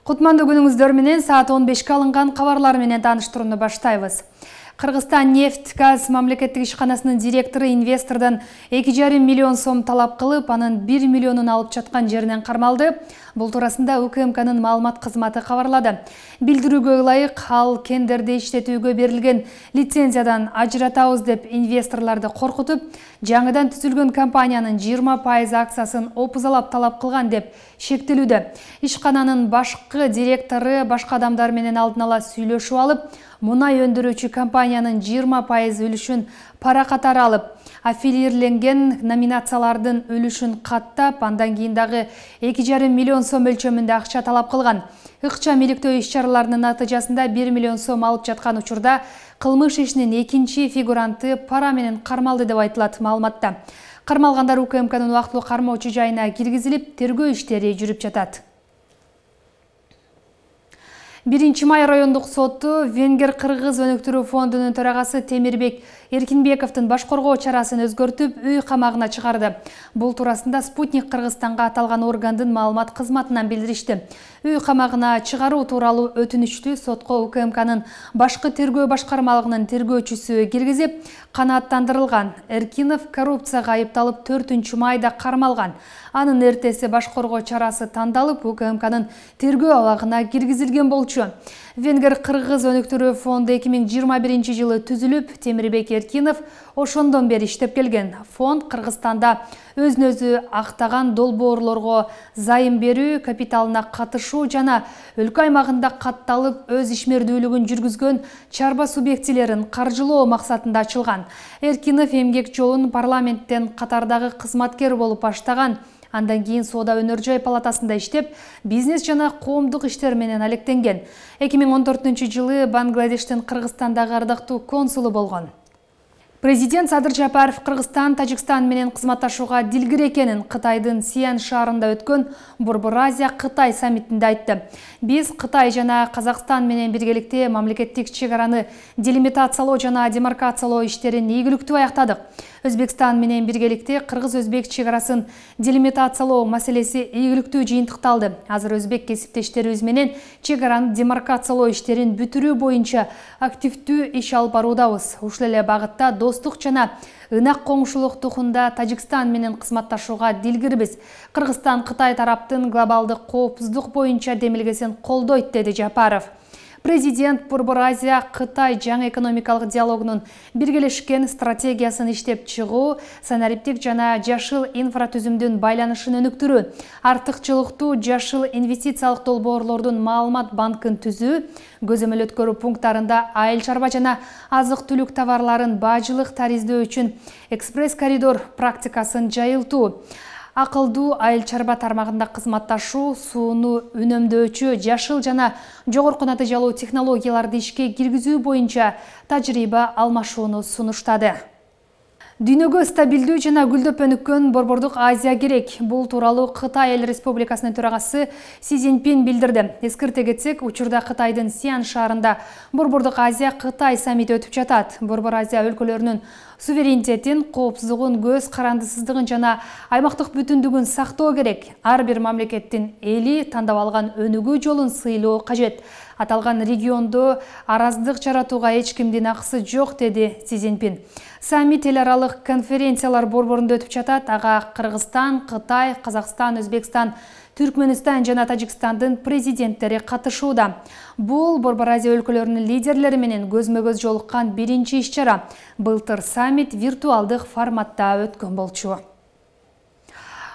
Кутмандуу күнүңүздөр менен саат 15-ке алынган кабарлар менен тааныштырууну баштайбыз. Кыргызстан нефть газ мамлекеттик ишканасынын директору инвестордон 2,5 миллион сом талап кылып, анын 1 миллионун алып жаткан жеринен кармалды. Бул туурасында УКМКнын маалымат кызматы кабарлады. Билдирүүгө ылайык, ал кендерди иштетүүгө берилген лицензиядан ажыратабыз деп инвесторлорду коркутуп, жаңыдан түзүлгөн компаниянын 20% акциясын опузалап талап кылган деп шектелүүдө. Ишкананын башкы директору башка адамдар менен алдын ала сүйлөшүп алып, мунай өндүрүүчү компаниянын 20% үлүшүн пара катары алып, аффилирленген номинациялардын үлүшүн каттап, андан кийин дагы 2,5 миллион сом өлчөмүндө акча талап кылган. Ыкчам иликтөө иш-чараларынын натыйжасында 1 миллион сом алып жаткан учурда кылмыш ишинин экинчи фигуранты пара менен кармалды деп айтылат маалыматта. Кармалгандар УКМКнын убактылуу кармоочу жайына киргизилип, тергөө иштери жүрүп жатат. 1-май райондук соту Венгер-Кыргыз өнүктүрүү фондунун төрагасы Темирбек Эркинбековдун баш коргоо чарасын өзгөртүп, үй камагына чыгарды. Бул туурасында Спутник Кыргызстанга аталган органдын маалымат кызматынан билдиришти. Үй камагына чыгаруу тууралуу өтүнүчтү сотко УКМКнын башкы тергөө башкармалыгынын тергөөчүсү киргизип, канааттандырылган. Эркинов коррупцияга айыпталып 4-майда кармалган. Анын эртеси баш коргоо чарасы тандалып, УКМКнын тергөө абагына киргизилген болчу. Венгер-Кыргыз өнүктүрүү фонду 2021 жылы түзүлүп, Темирбек Эркинов ошондон бери иштеп келген. Фонд Кыргызстанда өзүн-өзү актаган долбоорлорго зайым берүү, капиталына катышуу жана өлкө аймагында катталып өз ишмердүүлүгүн жүргүзгөн чарба субъектилерин каржылоо максатында ачылган. Эркинов эмгек жолун парламенттен катардагы кызматкер болуп баштаган. Андан кийин Соода өнөр жай палатасында иштеп, бизнес жана коомдук иштер менен алектенген. 2014 жылы Бангладештин Кыргызстандагы ардактуу консулу болгон. Президент Садыр Жапаров Кыргызстан, Тажикстан менен кызматташууга дилгир экенин Кытайдын Сиан шаарында өткөн Борбор-Азия-Кытай саммитинде айтты. Биз Кытай жана Казакстан менен биргеликте мамлекеттик чек-араны делимитациялоо жана демаркациялоо иштерин ийгиликтүү аяктадык. Өзбекстан менен биргеликте кыргыз-өзбек чек-арасын делимитациялоо маселеси ийгиликтүү жыйынтыкталды. Азыр өзбек кесиптештерибиз менен чек-араны демаркациялоо иштерин бүтүрүү боюнча активдүү иш алып баруудабыз. Ушул эле багытта достук жана ынак коңшулуктукунда Тажикстан менен кызматташууга дилгирбиз. Кыргызстан Кытай тараптын глобалдык коопсуздук боюнча демилгесин колдойт, деди Жапаров. Президент Борбор-Азия-Кытай жаңы экономикалык диалогунун биргелешкен стратегиясын иштеп чыгуу, санариптик жана жашыл инфратүзүмдүн байланышын өнүктүрүү, артыкчылыктуу жашыл инвестициялык долбоорлордун маалымат банкын түзүү, көзөмөл өткөрүү пункттарында айыл чарба жана азык-түлүк товарларын бажылык тариздөө үчүн экспресс коридор практикасын жайылтуу, акылдуу айыл чарба тармагында кызматташуу, сууну үнөмдөөчү жашыл жана жогорку натыйжалуу технологияларды ишке киргизүү боюнча тажрыйба алмашууну сунуштады. Дүйнөгө стабилдүү жана гүлдөп өнүккөн Борбордук Азия керек. Бул тууралуу Кытай Эл Республикасынын төрагасы Си Цзиньпин билдирди. Эскерте кетсек, учурда Кытайдын Сиан шаарында Борбордук Азия-Кытай саммити өтүп жатат. Борбор Азия өлкөлөрүнүн суверенитетин, коопсуздугун, көз карандысыздыгын жана аймактык бүтүндүгүн сактоо керек. Ар бир мамлекеттин эли тандап алган өнүгүү жолун сыйлоо кажет. Аталган региондо араздык жаратууга эч кимдин акысы жок, деди Си Цзиньпин. Саммит эл аралык конференциялар борборунда өтүп жатат. Ага Кыргызстан, Кытай, Казакстан, Өзбекстан, Түркмөнстан жана Тажикстандын президенттери катышууда. Бул Борбор Азия өлкөлөрүнүн лидерлери менен көзмө-көз жолуккан биринчи иш-чара. Былтыр саммит виртуалдык форматта өткөн болчу.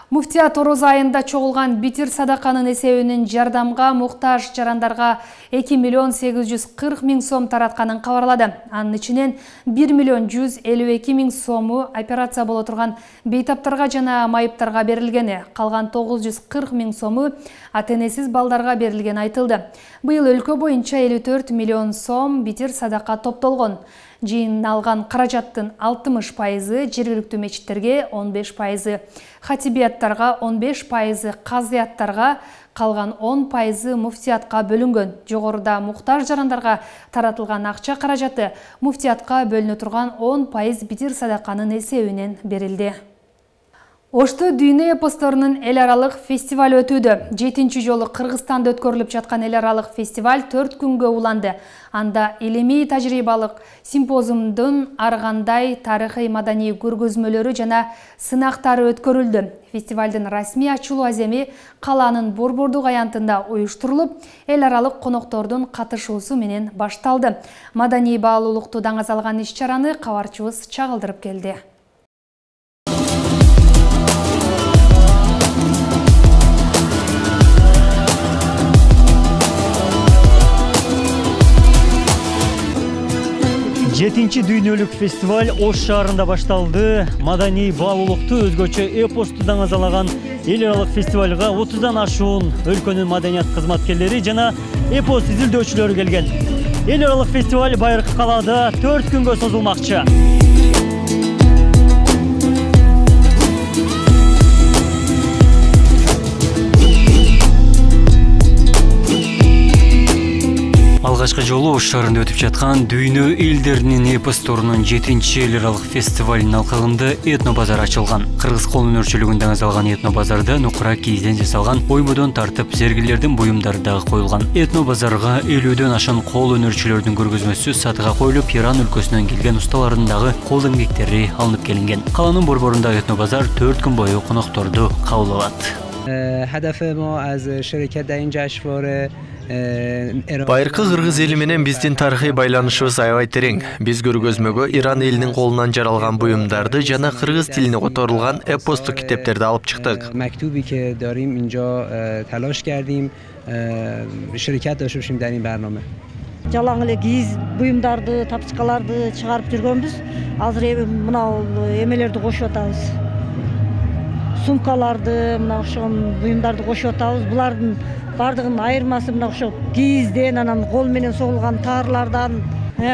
Муфтият Орозо айында чогулган битир садаканын эсебинен жардамга муктаж жарандарга 2 миллион 840 миң сом таратканын кабарлады. Анын ичинен 1 миллион 152 миң сому операция боло турган бейтаптарга жана майыптарга берилгени, калган 940 миң сому ата-энесиз балдарга берилгени айтылды. Быйыл өлкө боюнча 54 миллион сом битир садака топтолгон. Жыйналган каражаттын 60% жергиликтүү мечиттерге, 15% хатибияттарга, 15% казыяттарга, калган 10% муфтиятка бөлүнгөн. Жогоруда муктаж жарандарга таратылган акча каражаты муфтиятка бөлүнө турган 10% битир садаканын эсебинен берилди. Ошто дүйнө эпосторунун эл аралык фестиваль өтүүдө. 7-чи жолу Кыргызстанда өткөрүлүп жаткан эл аралык фестиваль 4 күнгө уланды. Анда илимий тажрыйбалык симпозиумдун ар кандай тарыхый маданий көргөзмөлөрү жана сынактары өткөрүлдү. Фестивалдын расмий ачылуу аземи каланын Борбордук аянтында уюштурулуп, эл аралык коноктордун катышуусу менен башталды. Маданий баалуулукту даңазалган иш-чараны кабарчыбыз чагылдырып келди. Жетинчи дүйнөлүк фестиваль Ош шаарында башталды. Маданий баалуулукту өзгөчө эпосту даңазалаган эл аралык фестивалга 30дан ашуун өлкөнүн маданият кызматкерлери жана эпос изилдөөчүлөрү келген. Эл аралык фестиваль байыркы калаада 4 күнгө созулмакчы. Алгачкы жолу Ош шаарында өтүп жаткан дүйнө элдеринин эпосторунун 7-чи эл аралык фестивалынын алкагында этно базар ачылган. Кыргыз кол өнөрчүлүгүн даңазалган этно базарда нукура кийизден жасалган ойбодон тартып зергилердин буюмдары дагы коюлган. Этно базарга 50дөн ашуун кол өнөрчүлөрдүн көргөзмөсү сатыга коюлуп, Иран өлкөсүнөн келген усталардын дагы кол эмгектери алынып келинген. Каланын борборундагы этно базар 4 күн бою конокторду кабыл алат. Байыркы кыргыз эли менен биздин тарыхый байланышыбыз аябай терең. Биз көргөзмөгө Иран элинин колунан жаралган буюмдарды жана кыргыз тилине которулган эпостук китептерди алып чыктык. Жалаң эле кийиз буюмдарды, тапчыкаларды чыгарып жүргөнбүз. Азыр мына эмелерди кошуп атабыз. Сумкаларды, мына ошол буюмдарды кошуп атабыз. Булардын бардыгынын айырмасы мына ошо кийизден, анан кол менен согулган таарlardan.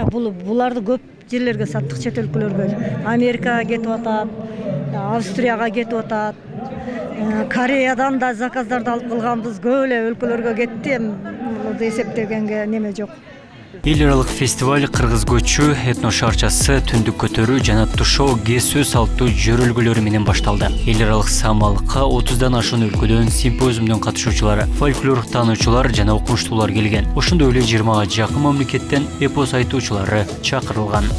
Буларды көп жерлерге саттык, чет өлкөлөргө. Америкага кетип атат, Австрияга кетип атат. Кореядан да заказдарды алып калганбыз, көп эле өлкөлөргө кетти. Эсептегенге неме жок. Эл аралык фестиваль кыргыз көчү, этно шаарчасы, түндүк көтөрүү жана тушоо кесүү салттуу жөрөлгөлөрү менен башталды. Эл аралык самалыкка 30дан ашуун өлкөдөн симпозиумдун катышуучулары, фольклор таануучулар жана окумуштуулар келген. Ошондой эле 20га жакын мамлекеттен эпос айтуучулары чакырылган.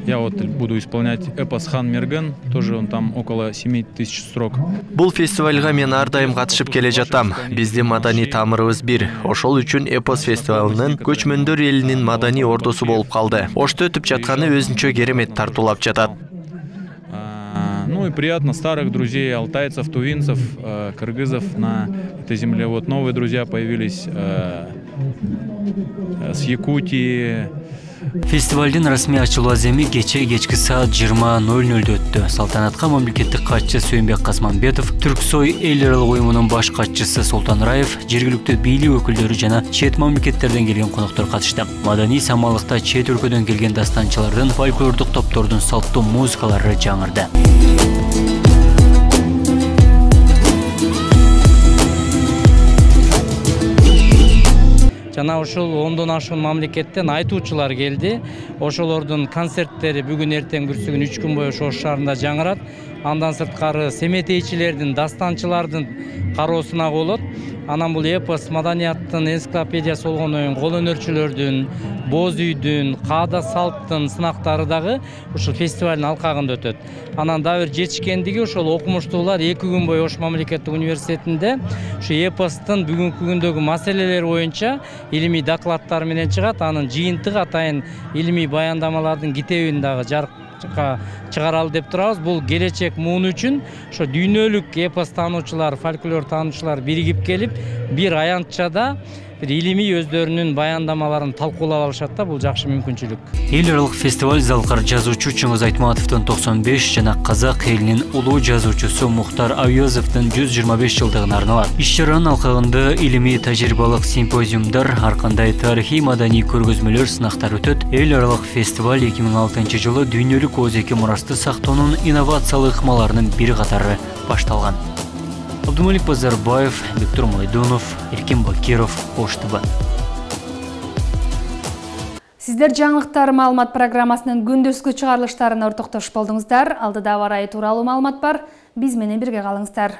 Я вот буду исполнять эпос Хан Мерген, тоже он там около 7000 строк. Бул фестивальга мен ар дайым катышып келе жатам. Биздин маданий тамырыбыз бир. Ошол үчүн эпос фестивалынын көчмөндөр элинин маданий ордосу болуп калды. Ошто өтүп жатканы өзүнчө керемет тартуулап жатат. Ну и приятно старых друзей алтайцев, тувинцев, кыргызов на этой земле. Вот новые друзья появились с Якутии. Фестивалдын расмий ачылуу аземи кечки саат 20:00 өттү. Салтанатка мамлекеттик катчы Сүйөнбек Касманбетов, Түрксой эл аралык уюмунун баш катчысы Султан Раев, жергиликтүү бийлик өкүлдөрү жана чет мамлекеттерден келген коноктор катышты. Маданий самалыкта чет өлкөдөн келген дастанчылардын, фольклордук топтордун салттуу музыкалары жаңырды. Жана ошол 10дон ашуун мамлекеттен айтуучулар келди. Ошолордун концерттери бүгүн эртең бүрсүгүн 3 күн бою Ош шаарында жаңырат. Андан сырткары семетейчилердин, дастанчылардын кароосуна болот. Анан бул эпос маданияттын энциклопедиясы болгондон кол өнөрчүлөрдүн, боз үйдүн, каада салттын сынактары дагы ушул фестивалдын алкагында өтөт. Анан дагы бир жетишкендиги ошол окумуштуулар 2 күн бою Ош мамлекеттик университетинде ушу эпостун бүгүнкү күндөгү маселелери боюнча илимий докладдар менен чыгат. Анын жыйынтыгы атайын илимий баяндамалардын китебин дагы жарыкка чыгаралы деп турабыз. Бул келечек муун үчүн ошо дүйнөлүк эпос таануучулар, фольклор таануучулар биригип келип, бир аянтчада илимий өздөрүнүн баяндамаларын талкуулап алышат да, бул жакшы мүмкүнчүлүк. Эл аралык фестиваль залкар жазуучу Чыңгыз Айтматовдун 95 жана казак элинин улуу жазуучусу Мухтар Авьёзовдун 125 жылдыгына арналат. Иш-чаранын алкагында илимий тажрыйбалык симпозиумдар, ар кандай тарыхый маданий көргөзмөлөр, сынактар өтөт. Эл аралык фестиваль 2006 жылы дүйнөлүк озеки мурасты сактоонун инновациялык ыкмаларынын бири катары башталган. Абдумалик Базарбаев, Виктор Майдунов, Эркин Бакиров, Ош ТВ. Сиздер жаңылыктар маалымат программасынын күндүзгү чыгарылыштарына ортоктошуп болдуңуздар. Алдыда аба ырайы тууралуу маалымат бар. Биз менен бирге калыңыздар.